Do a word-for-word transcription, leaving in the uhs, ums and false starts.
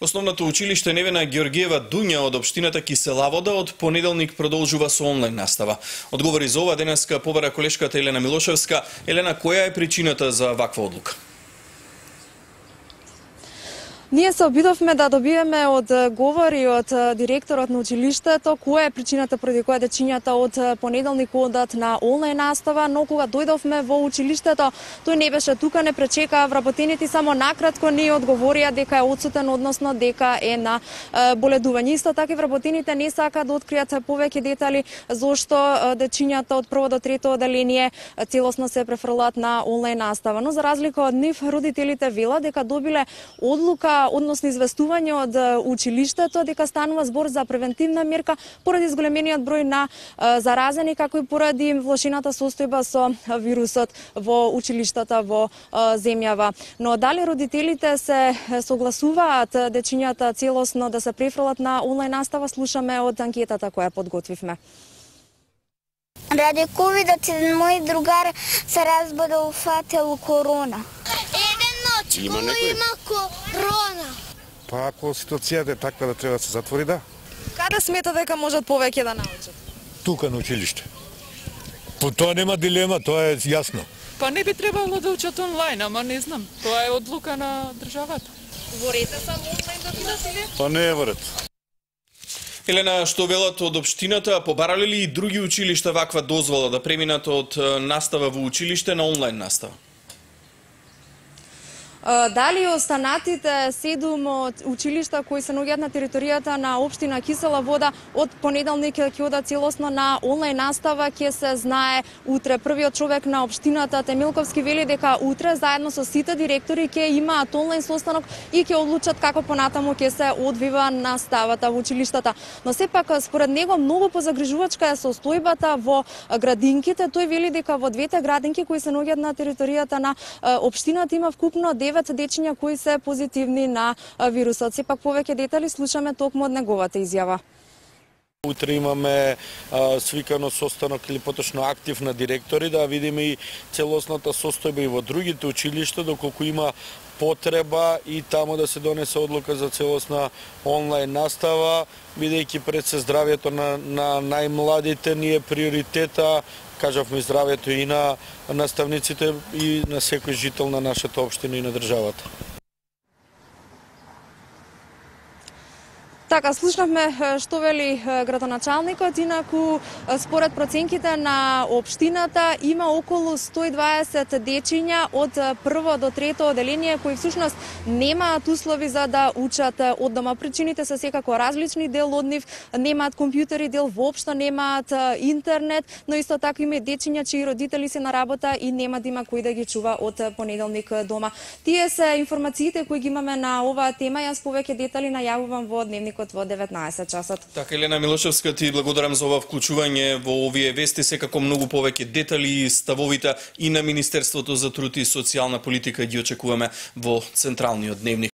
Основното училиште Невена Георгиева Дуња од општината Киселавода од понеделник продолжува со онлайн настава. Одговори за ова денеска побара колешката Елена Милошевска. Елена, која е причината за ваква одлука? Ние се обидовме да добиеме од говори од директорот на училиштето која е причината поради која дечињата од понеделник одат на онлайн настава, но кога дојдовме во училиштето, тој не беше тука, не пречекаа вработените, само накратко ни одговорија дека е одсутен, односно дека е на боледување. Исто така и вработените не сака да откријат повеќе детали зошто дечињата од прво до трето оделение целосно се префрлаат на онлайн настава. Но за разлика од нив, родителите велат дека добиле одлука односно известување од училиштето дека станува збор за превентивна мерка поради зголемениот број на заразени, како и поради влошената состојба со вирусот во училиштата во земјава. Но дали родителите се согласуваат дечињата целосно да се префрлат на онлайн настава, слушаме од анкетата која подготвивме. Ради ковидот мој другар се разболел, фател корона. Има некој? Има корона. Па ако ситуацијата е таква да треба да се затвори, да. Каде смета дека можат повеќе да научат? Тука на училиште. По тоа нема дилема, тоа е јасно. Па не би требало да учат онлайн, ама не знам. Тоа е одлука на државата. Во ред е само онлайн да бидат или? Па не е во ред. Елена, што велат од општината, побарале ли и други училишта ваква дозвола да преминат од настава во училиште на онлайн настава? Дали останатите седум училишта кои се наоѓаат на територијата на општина Киселавода од понеделник ќе одат целосно на онлайн настава, ќе се знае утре. Првиот човек на општината Темилковски вели дека утре заедно со сите директори ќе имаат онлайн состанок и ќе одлучат како понатаму ќе се одвива наставата во училиштата. Но сепак според него многу позагрижувачка е состојбата во градинките. Тој вели дека во двете градинки кои се наоѓаат на територијата на општината има вкупно девет дечиња кои се позитивни на вирусот. Сепак повеќе детали слушаме токму од неговата изјава. Утре имаме а, свикано состанок или поточно актив на директори да видиме и целосната состојба и во другите училишта доколку има потреба и таму да се донесе одлука за целосна онлайн настава, бидејќи пред се здравјето на, на најмладите ни е приоритета, кажавме здравјето и на наставниците и на секој жител на нашата општина и на државата. Така, слушнавме што вели градоначалникот, инаку според проценките на општината има околу сто и дваесет дечиња од прво до трето оделение кои всушност немаат услови за да учат од дома. Причините се секако различни, дел од нив немаат компјутери, дел воопшто немаат интернет, но исто така има и дечиња чии родители се на работа и нема да има кој да ги чува од понеделник дома. Тие се информациите кои ги имаме на оваа тема. Јас повеќе детали најавувам во дневник во деветнаесет часот. Така, Елена Милошевска, ти благодарам за ова вклучување во овие вести. Секако многу повеќе детали и ставовите и на Министерството за труд и социјална политика ги очекуваме во централниот дневник.